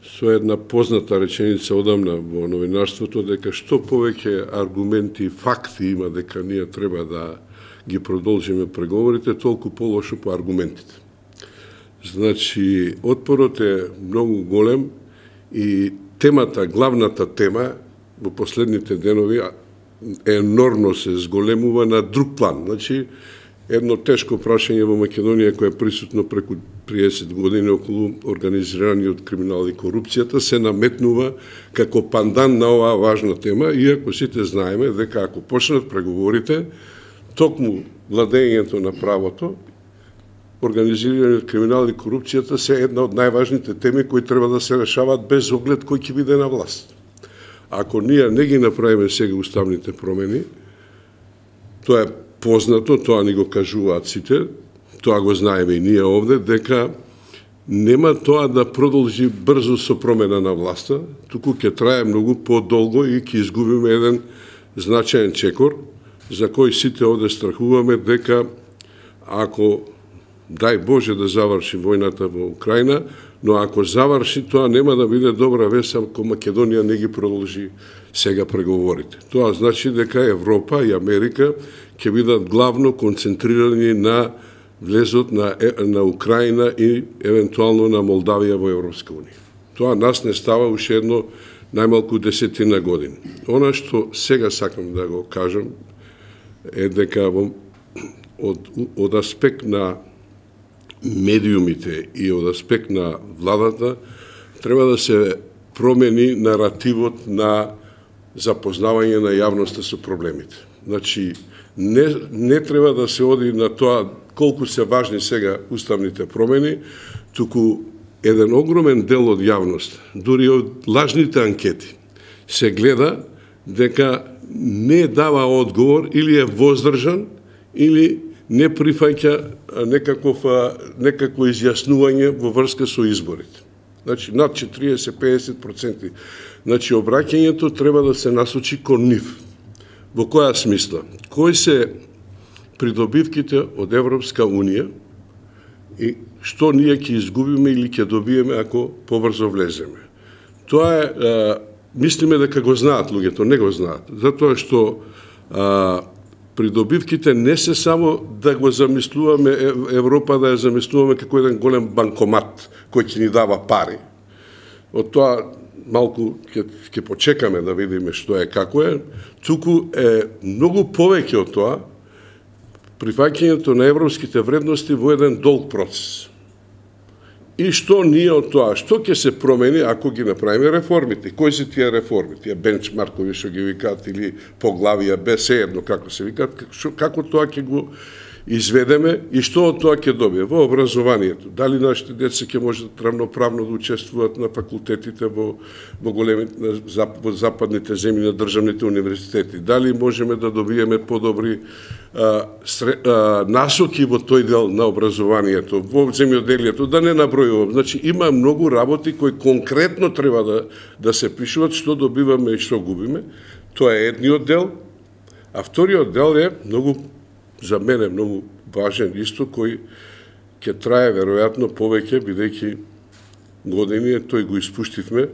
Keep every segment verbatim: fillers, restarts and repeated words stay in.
со една позната реченица одамна во новинарството, дека што повеќе аргументи и факти има дека ние треба да ги продолжиме преговорите, толку полошо по аргументите. Значи, отпорот е многу голем и темата, главната тема во последните денови енормно се зголемува на друг план. Значи, едно тешко прашање во Македонија кој е присутно преку триесет години околу организираниот криминал и корупцијата се наметнува како пандан на оваа важна тема, иако сите знаеме дека ако почнат преговорите, токму владењето на правото, организираниот криминал и корупцијата се една од најважните теми кои треба да се решаваат без оглед кој ќе биде на власт. Ако ние не ги направиме сега уставните промени, тоа е познато, тоа ни го кажуваат сите, тоа го знаеме и ние овде, дека нема тоа да продолжи брзо со промена на власта, туку ќе трае многу подолго и ќе изгубиме еден значаен чекор, за кој сите овде страхуваме дека ако, дај Боже да заврши војната во Украина, но ако заврши, тоа нема да биде добра вест ако Македонија не ги продолжи сега преговорите. Тоа значи дека Европа и Америка ќе бидат главно концентрирани на влезот на, на Украина и евентуално на Молдавија во Европска унија. Тоа нас не става уште едно најмалку десетина години. Она што сега сакам да го кажам е дека во, од, од аспект на медиумите и од аспект на владата треба да се промени наративот на запознавање на јавноста со проблемите. Значи, не, не треба да се оди на тоа колку се важни сега уставните промени, туку еден огромен дел од јавност, дури од лажните анкети, се гледа дека не дава одговор или е воздржан, или не прифаќа некаков, некакво изјаснување во врска со изборите. Значи, над четириесет до педесет проценти. Значи, обраќањето треба да се насочи кон нив. Во која смисла? Кои се придобивките од Европска унија и што ние ќе изгубиме или ќе добиеме ако побрзо влеземе? Тоа е, а, мислиме дека го знаат луѓето, не го знаат. Затоа што а, придобивките не се само да го замислуваме Европа, да ја замислуваме како еден голем банкомат кој ќе ни дава пари. Од тоа малку ќе, ќе почекаме да видиме што е, како е, туку е многу повеќе од тоа прифаќањето на европските вредности во еден долг процес. И што ние од тоа, што ќе се промени ако ги направиме реформите? Кои се тие реформи? Тие бенчмаркови што ги викаат или поглавија, без едно како се викаат, како тоа ќе го изведеме и што од тоа ќе добие во образованието. Дали нашите деца ќе можат равноправно да учествуваат на факултетите во во големите во западните земји на државните универзитети? Дали можеме да добиеме подобри а, сре, а, насоки во тој дел на образованието, во земјоделието, да не набројувам. Значи има многу работи кои конкретно треба да да се пишуваат, што добиваме и што губиме. Тоа е едниот дел, а вториот дел е многу, за мене многу важен исто, кој ќе трае веројатно повеќе, бидејќи години тој го испуштивме,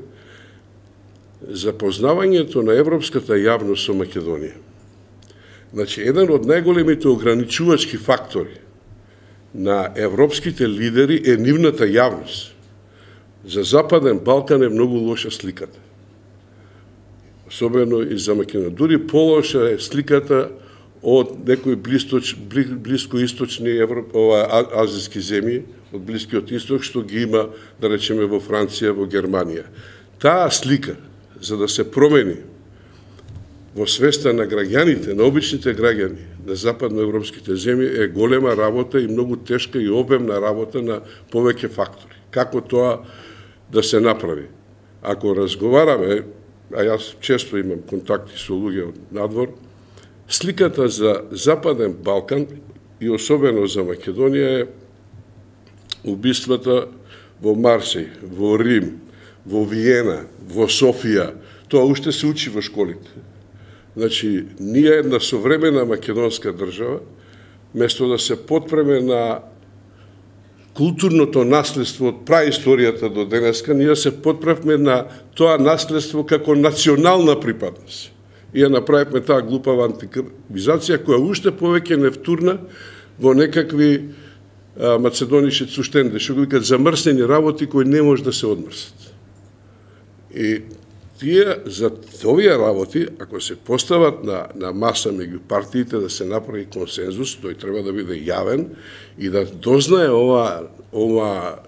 запознавањето на европската јавност со Македонија. Значи, еден од најголемите ограничувачки фактори на европските лидери е нивната јавност. За Западен Балкан е многу лоша сликата. Особено и за Македонија. Дури полоша е сликата од некои блискоисточни ова азиски земји, од Блискиот исток, што ги има, да речеме, во Франција, во Германија. Таа слика, за да се промени во свеста на граѓаните, на обичните граѓани на западноевропските земји, е голема работа и многу тешка и обемна работа на повеќе фактори. Како тоа да се направи? Ако разговараме, а јас често имам контакти со луѓе од надвор, сликата за Западен Балкан и особено за Македонија е убиствата во Марсеј, во Рим, во Виена, во Софија. Тоа уште се учи во школите. Значи, ние една современа македонска држава, место да се потпреме на културното наследство од праисторијата до денеска, ние се потправме на тоа наследство како национална припадност. И ја направивме таа глупава антикризација, која уште повеќе не втурна во некакви а, macedонишки цуштенде, што го викат замрснени работи кои не може да се одмрсат. И тие, за овие работи, ако се постават на, на маса меѓу партиите да се направи консензус, тој треба да биде јавен и да дознае ова, ова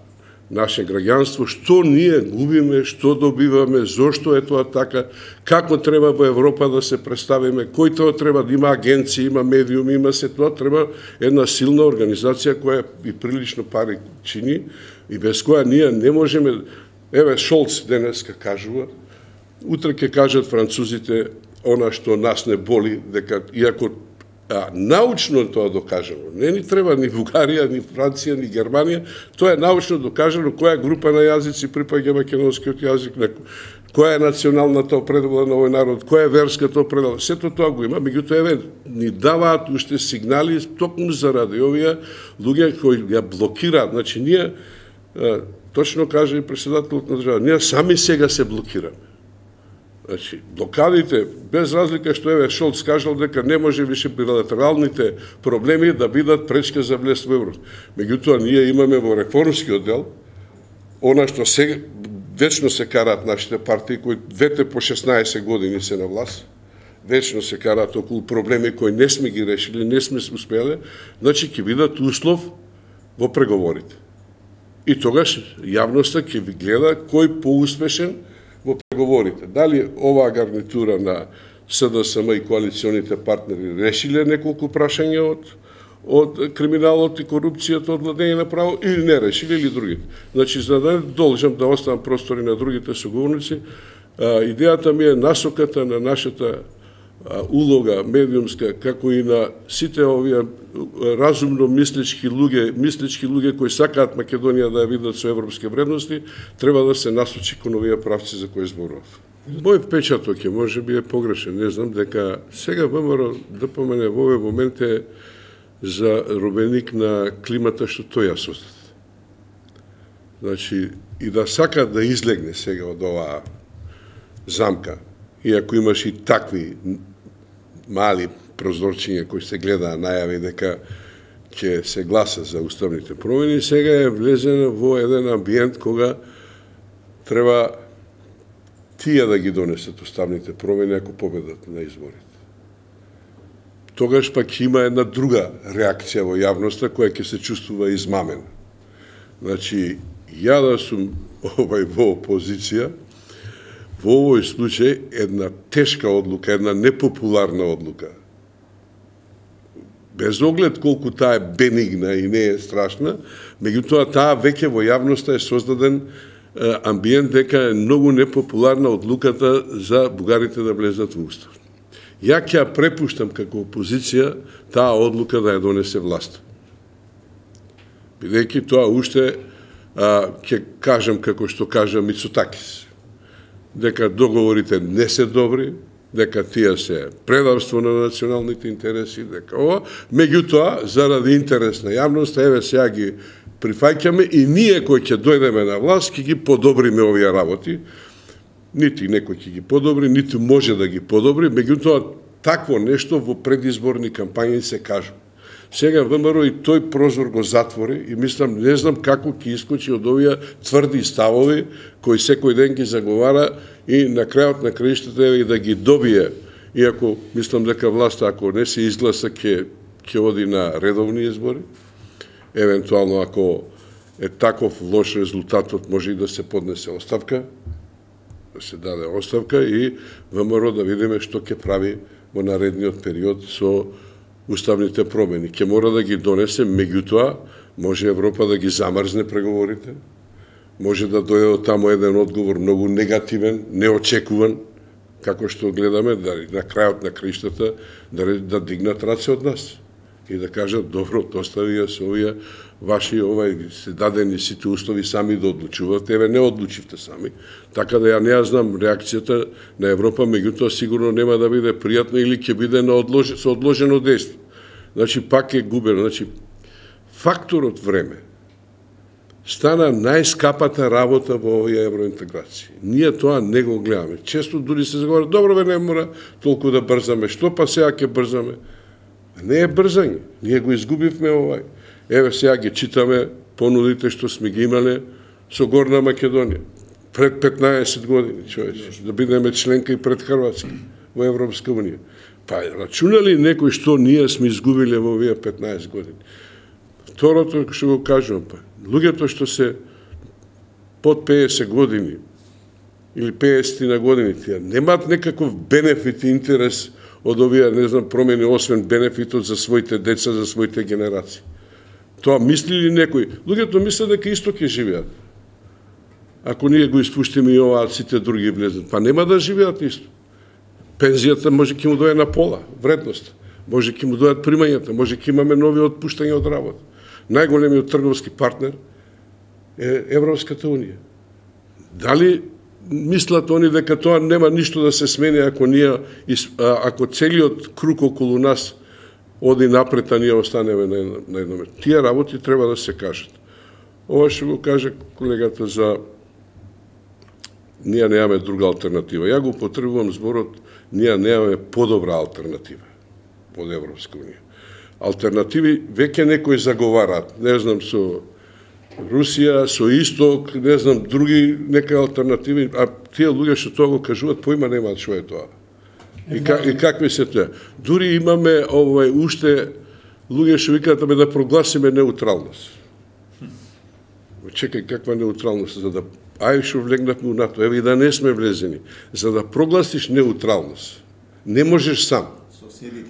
наше граѓанство, што ние губиме, што добиваме, зошто е тоа така, како треба во Европа да се представиме, кој тоа треба да има агенции, има медиуми, има се тоа, треба една силна организација која и прилично пари чини и без која ние не можеме. Еве Шолц денеска кажува, утре ќе кажат французите она што нас не боли, дека иако а, научно тоа докажано, не ни треба ни Бугарија, ни Франција, ни Германија, тоа е научно докажано која група на јазици припаѓа македонскиот јазик, која е националната определба на овој народ, која е верската определба, сето тоа го има, меѓутоа еве ни даваат уште сигнали токму заради овие луѓе кои ја блокираат, значи ние а, точно каже и председателот на држава, ние сами сега се блокираме. Значи, блокадите, без разлика што еве Шолц кажал дека не може више билатералните проблеми да бидат пречка за влез во Европа. Меѓутоа, ние имаме во реформскиот дел, она што сега вечно се караат нашите партии, кои двете по шеснаесет години се на власт, вечно се караат околу проблеми кои не сме ги решили, не сме успеле, значи ќе бидат услов во преговорите. И тогаш јавноста ќе ви гледа кој поуспешен во преговорите. Дали оваа гарнитура на СДСМ и коалиционите партнери решиле неколку прашања од, од криминалот и корупцијата, од владење на право, или не решили, или другите. Значи, за да не должам да оставам простори на другите соговорници, идејата ми е насоката на нашата улога медиумска, како и на сите овие разумно мислечки луѓе, мислечки луѓе кои сакаат Македонија да ја видат со европски вредности, треба да се насочи кон овие правци за кои зборував. Мој впечаток е, може би е погрешен, не знам, дека сега ВМРО да помене во овој момент е за робеник на климата што тој ја создаде. Значи, и да сака да излегне сега од оваа замка, иако имаш и такви мали прозорчиња кои се гледаа најави дека ќе се гласа за уставните промени, сега е влезен во еден амбиент кога треба тие да ги донесат уставните промени ако победат на изборите. Тогаш пак има една друга реакција во јавноста која ќе се чувствува измамена. Значи, ја да сум овај во опозиција, во овој случај една тешка одлука, една непопуларна одлука, без оглед колку таа е бенигна и не е страшна, меѓутоа таа веќе во јавноста е создаден е, амбиент дека е многу непопуларна одлуката за бугарите да влезат во устав. Ја ќе ја препуштам како опозиција таа одлука да ја донесе власт. Бидејќи тоа уште а, ќе кажам како што кажа Мицотакис, дека договорите не се добри, дека тие се предавство на националните интереси, дека ова, меѓутоа, заради интерес на јавноста, еве сега ги прифаќаме и ние кои ќе дојдеме на власт, ќе ги подобриме овие работи. Нити некој ќе ги подобри, нити може да ги подобри, меѓутоа, такво нешто во предизборни кампањи се кажува. Сега ВМРО и тој прозор го затвори и мислам, не знам како ќе искочи од овие тврди ставови кои секој ден ги заговара и на крајот на краиштата и да ги добие, иако мислам дека власта ако не се изгласа ќе ќе оди на редовни избори. Евентуално ако е таков лош резултатот може и да се поднесе оставка, да се даде оставка и ВМРО да видиме што ќе прави во наредниот период со уставните промени. Ќе мора да ги донесе, меѓутоа може Европа да ги замрзне преговорите, може да дојде од таму еден одговор многу негативен, неочекуван, како што гледаме, да на крајот на краиштата да, да дигнат раце од нас и да кажат, добро, остави ја со овие ваши, овај, се дадени сите услови сами да одлучувате, еве не одлучивте сами, така да ја не ја знам реакцијата на Европа, меѓутоа сигурно нема да биде пријатно или ќе биде на одлож... со одложено дејство. Значи, пак е губено. Значи, факторот време стана најскапата работа во овие евроинтеграции. Ние тоа не го гледаме. Често дури се заговара, добро бе, не мора толку да брзаме. Што па сега ќе брзаме? Не е брзање. Ние го изгубивме овај. Еве сега ги читаме понудите што сме ги имале со Горна Македонија. Пред петнаесет години, човече, да бидеме членка и пред Хрватска во Европска унија. Па рачуна ли некој што ние сме изгубиле во овие петнаесет години? Второто што го кажувам, па, луѓето што се под пеесет години или пеесет на години, тие немаат некаков бенефит и интерес од овие, не знам, промени, освен бенефитот за своите деца, за своите генерации. Тоа мисли ли некој? Луѓето мислат дека исто ќе живеат. Ако ние го испуштиме и ова, сите други влезат, па нема да живеат исто. Пензијата може ќе му дојде на пола, вредност. Може ќе му дојдат примањата, може ќе имаме нови отпуштања од работа. Најголемиот трговски партнер е Европската унија. Дали мислат они дека тоа нема ништо да се смени ако ние ако целиот круг околу нас оди напред, а ние останеме на едно, на едно место? Тие работи треба да се кажат. Ова што го каже колегата за ние немаме друга алтернатива. Ја го потребувам зборот, ние немаме подобра алтернатива од Европска унија. Алтернативи веќе некои заговараат, не знам, со Русија, со Исток, не знам, други нека алтернативи, а тие луѓе што тоа го кажуваат, поима немаат што е тоа. И, как, и какви се тоа? Дури имаме овој уште луѓе што викаат да прогласиме неутралност. Чекај, каква неутралност, за да ај што влегнавме у НАТО, еве и да не сме влезени, за да прогласиш неутралност, не можеш сам.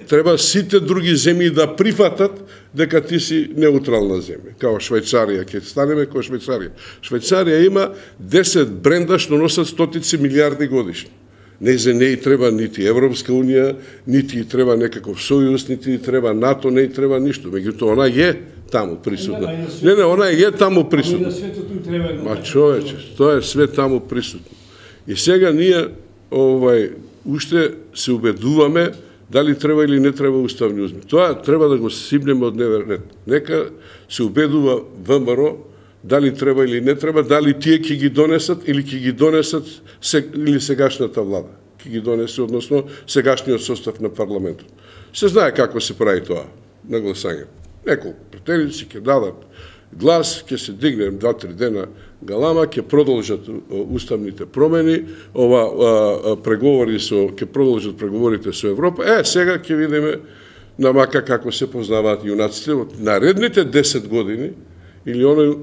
Треба сите други земји да прифатат дека ти си неутрална земја. Као Швајцарија, ќе станеме као Швајцарија. Швајцарија има десет бренда што носат стотици милиарди годишно. Не за не и треба нити Европска унија, нити и треба некаков сојуз, нити и треба НАТО, не и треба ништо. Меѓутоа, она е таму присутна. Не, не, она е таму присутна. Ма човече, тоа е све таму присутно. И сега ние овај уште се убедуваме дали треба или не треба уставни измени. Тоа треба да го сибнеме од дневен ред. Нека се убедува ВМРО дали треба или не треба, дали тие ќе ги донесат или ќе ги донесат или сегашната влада. Ќе ги донесе, односно сегашниот состав на парламентот. Се знае како се прави тоа на гласање. Неколку претеници ќе дадат глас, ќе се дигне два-три дена галама, ќе продолжат уставните промени, ова а, преговори со ќе продолжат преговорите со Европа. Е, сега ќе видиме на мака како се познаваат јунаците од наредните десет години или оној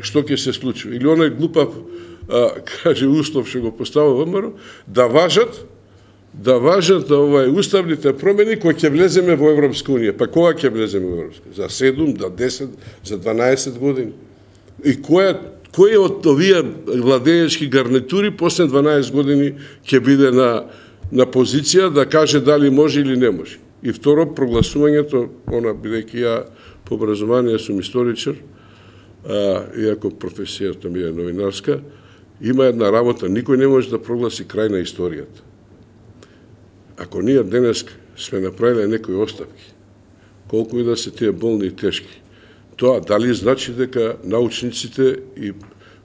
што ќе се случи, или оној глупав а, каже услов што го поставува ВМРО, да важат да важат овај уставните промени кои ќе влеземе во Европска унија. Па кога ќе влеземе во Европска? За седум, за десет, за дванаесет години. И кој кој од овие владеечки гарнитури после дванаесет години ќе биде на на позиција да каже дали може или не може. И второ, прогласувањето, она бидејќи ја по образование сум историчар, а, иако професијата ми е новинарска, има една работа, никој не може да прогласи крај на историјата. Ако ние денес сме направиле некои оставки, колку и да се тие болни и тешки, тоа дали значи дека научниците и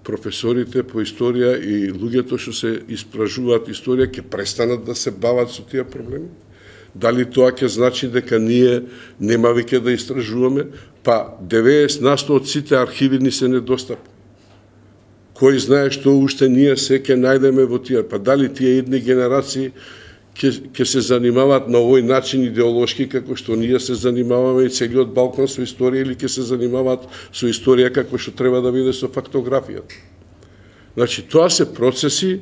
професорите по историја и луѓето што се испражуваат историја ќе престанат да се бават со тие проблеми? Дали тоа ќе значи дека ние нема веќе да истражуваме? Па деветдесет на сто од сите архиви ни се недостапни. Кој знае што уште ние се ќе најдеме во тие? Па дали тие идни генерации ќе се занимаваат на овој начин идеолошки како што ние се занимаваме и целиот Балкан со историја, или ќе се занимаваат со историја како што треба да биде со фактографијата? Значи, тоа се процеси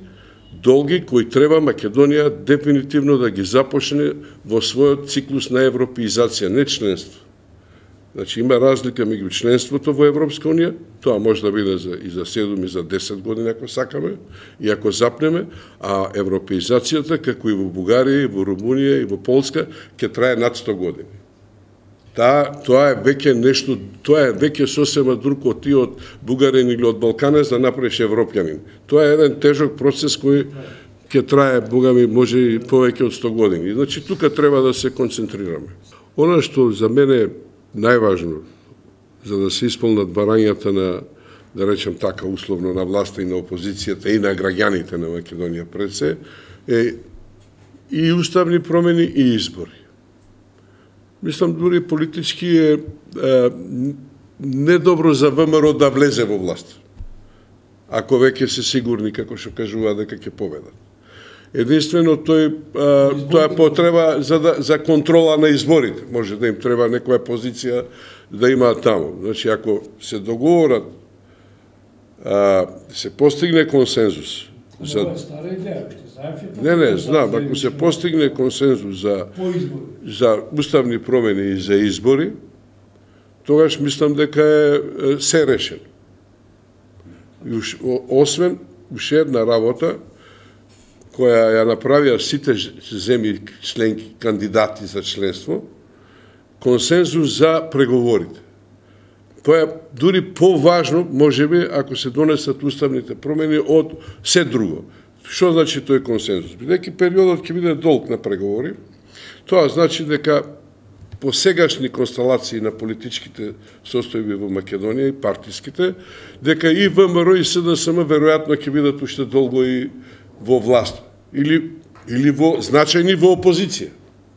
долги кои треба Македонија дефинитивно да ги започне во својот циклус на европеизација, не членство. Значи, има разлика меѓу членството во Европска унија, тоа може да биде за, и за седум и за десет години ако сакаме, и ако запнеме, а европеизацијата, како и во Бугарија, и во Румунија, и во Полска, ќе трае над сто години. Та, тоа е веќе нешто, тоа е веќе сосема друг од ти од бугарин или од балканец да направиш европјанин. Тоа е еден тежок процес кој ќе трае, бога ми, може и повеќе од сто години. Значи, тука треба да се концентрираме. Она што за мене најважно, за да се исполнат барањата на да речем така условно, на власта и на опозицијата и на граѓаните на Македонија пред се, е и уставни промени и избори. Мислам, дури политички е, е недобро за ВМРО да влезе во власт, ако веќе се сигурни, како што кажува, дека ќе победат. Единствено, тој, а, тоа е потреба за, да, за контрола на изборите. Може да им треба некоја позиција да имаат таму. Значи, ако се договорат, а, се постигне консензус. За... Това е стара идеја. Не, не, знам, ако се постигне консензус за, за уставни промени и за избори, тогаш мислам дека е се решено. И уш, освен уште една работа, која ја направија сите земји членки, кандидати за членство, консензус за преговорите. Тоа е дури поважно, можеби, ако се донесат уставните промени од се друго. Што значи тој консензус? Бидејќи периодот ќе биде долг на преговори, тоа значи дека по сегашни констелации на политичките состојби во Македонија и партиските, дека и ВМРО и СДСМ веројатно ќе бидат уште долго и во власт или или во значајни во опозиција.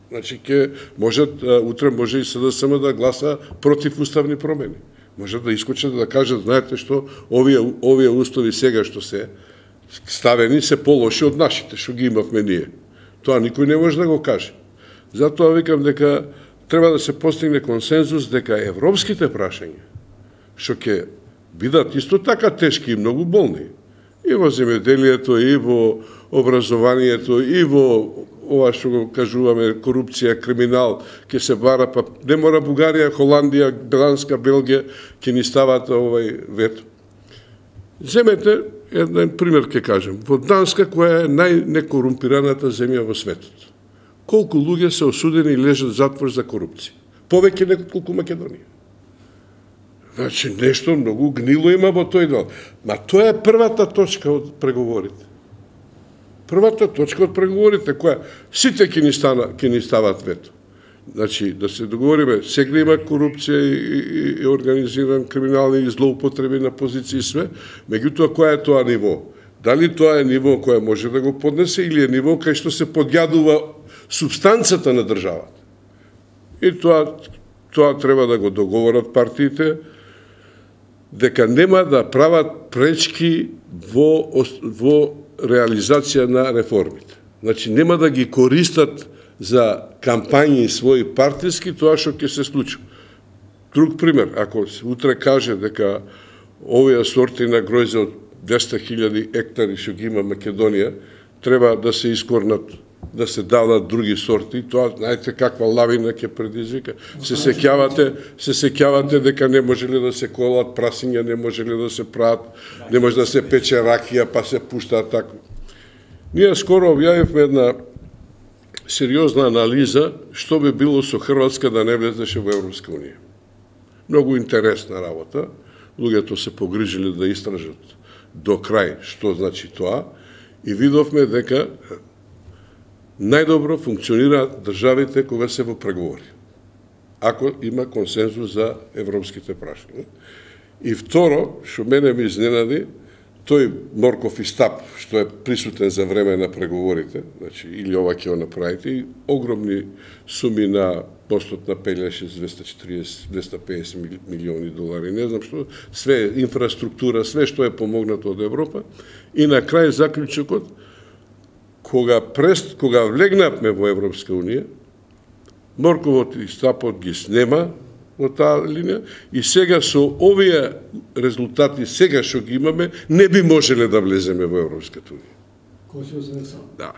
Значи ќе можат утре може и СДСМ да гласа против уставни промени. Може да искочат да кажат, знаете што, овие овие устави сега што се ставени се полоши од нашите што ги имавме ние. Тоа никој не може да го каже. Затоа викам дека треба да се постигне консензус дека европските прашања што ќе бидат исто така тешки и многу болни и во земјоделието, и во образованието, и во ова што го кажуваме корупција, криминал, ќе се бара, па не мора Бугарија, Холандија, Данска, Белгија ќе ни стават овај вето. Земете еден пример ќе кажем. Во Данска, која е најнекорумпираната земја во светот, колку луѓе се осудени и лежат затвор за корупција? Повеќе неколку Македонија. Значи, нешто многу гнило има во тој дел. Ма тоа е првата точка од преговорите. Првата точка од преговорите, која сите ќе ни, стана, ќе ни стават вето. Значи, да се договориме, сега има корупција и, и, и организиран криминални и злоупотреби на позиции и све, меѓутоа, која е тоа ниво? Дали тоа е ниво која може да го поднесе или е ниво кај што се подјадува субстанцата на државата? И тоа, тоа треба да го договорат партиите, дека нема да прават пречки во, во реализација на реформите. Значи, нема да ги користат за кампањи своји партиски тоа што ќе се случи. Друг пример, ако се утре каже дека овие сорти на гројзе од двесте хиљади ектари што ги има Македонија, треба да се искорнат, да се дадат други сорти, тоа знаете каква лавина ќе предизвика. Се сеќавате, се сеќавате дека не можеле да се колат прасиња, не можеле да се прават, не може да се пече ракија, па се пуштаат така. Ние скоро објавивме една сериозна анализа што би било со Хрватска да не влезеше во Европска унија. Многу интересна работа. Луѓето се погрижили да истражат до крај што значи тоа и видовме дека најдобро функционираат државите кога се во преговори, ако има консензус за европските прашања. И второ, што мене ми изненади, тој морков и стап, што е присутен за време на преговорите, значи, или ова ќе го направите, и огромни суми на постот на Пелеш, двесте четириесет до двесте песет милиони долари, не знам што, све инфраструктура, све што е помогнато од Европа, и на крај заклучокот, кога прест, кога влегнавме во Европска унија, морковот и стапот ги снема во таа линија и сега со овие резултати сега што ги имаме не би можеле да влеземе во Европската унија. Кој се озресал? Да.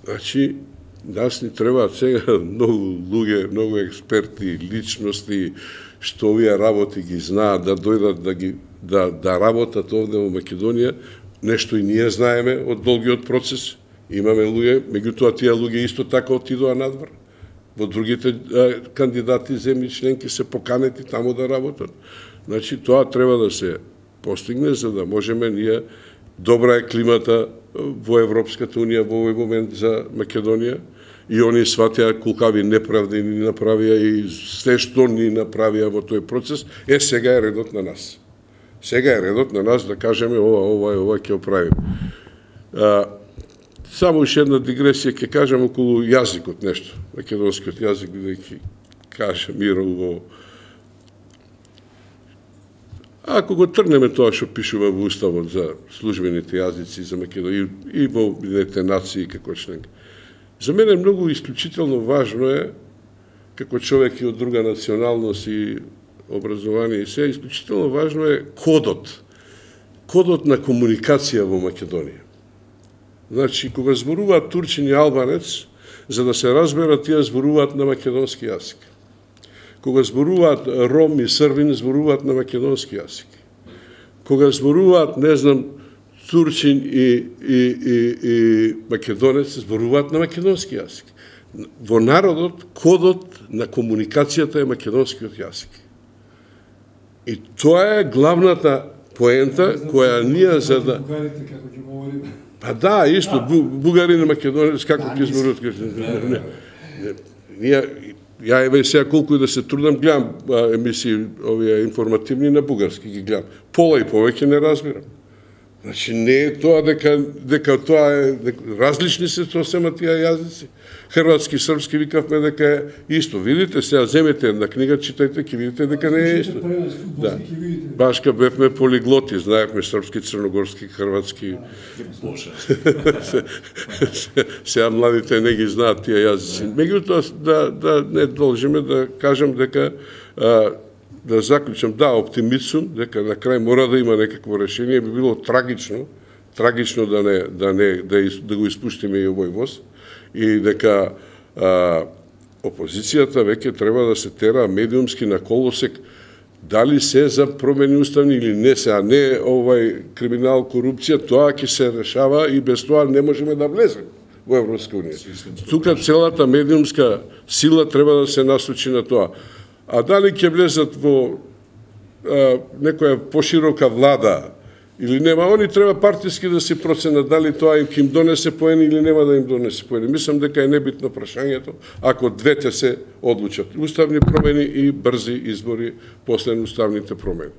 Значи, нас ни требаат сега многу луѓе, многу експерти, личности што овие работи ги знаат да дојдат да ги да да работат овде во Македонија, нешто и ние знаеме од долгиот процес. Имаме луѓе, меѓутоа тие луѓе исто така отидоа надвор. Во другите а, кандидати земји членки се поканети таму да работат. Значи, тоа треба да се постигне за да можеме ние, добра е климата во Европската унија во овој момент за Македонија и они сватеа колкави неправди ни направија и се што ни направија во тој процес, е сега е редот на нас. Сега е редот на нас да кажеме ова, ова, ова ќе оправим. А, само уште една дигресија ќе кажам околу јазикот нешто, македонскиот јазик, бидејќи каже Миро во... Ако го тргнеме тоа што пишува во Уставот за службените јазици за Македонија и, и во Обединетите нации како член, за мене многу исклучително важно е, како човек и од друга националност и образование и се, исклучително важно е кодот. Кодот на комуникација во Македонија. Значи, кога зборуваат турчин и албанец, за да се разберат, тие зборуваат на македонски јазик. Кога зборуваат ром и србин, зборуваат на македонски јазик. Кога зборуваат, не знам, турчин и, и, и, и македонец, зборуваат на македонски јазик. Во народот, кодот на комуникацијата е македонскиот јазик. И тоа е главната поента која ние за да... Бугарите како ќе говориме. Па да, исто, бугарин и македонец, како ќе зборуваат. Ние, ја еве сега колку и да се трудам, гледам емисии овие информативни на бугарски, ги гледам. Пола и повеќе не разбирам. Значи, не е тоа дека, дека тоа е, дека, различни се сосема тие јазици. Хрватски, српски, викавме дека е исто. Видите, сега земете една книга, читајте, ќе видите дека не е исто. Да. Башка бевме полиглоти, знаевме српски, црногорски, хрватски. Сега младите не ги знаат тие јазици. Меѓутоа, да, да не должиме да кажам дека а, да заклучам, да, оптимист сум, дека на крај мора да има некакво решение, би било трагично, трагично да не да не да, да го испуштиме и овој воз и дека а, опозицијата веќе треба да се тера медиумски на колосек дали се за промени уставни или не се, а не овај криминал, корупција, тоа ќе се решава и без тоа не можеме да влеземе во Европска унија. Тука целата медиумска сила треба да се насочи на тоа. А дали ќе влезат во а, некоја поширока влада или нема, они треба партиски да се проценат дали тоа им ќе им донесе поени или нема да им донесе поени. Мислам дека е небитно прашањето ако двете се одлучат. Уставни промени и брзи избори после уставните промени.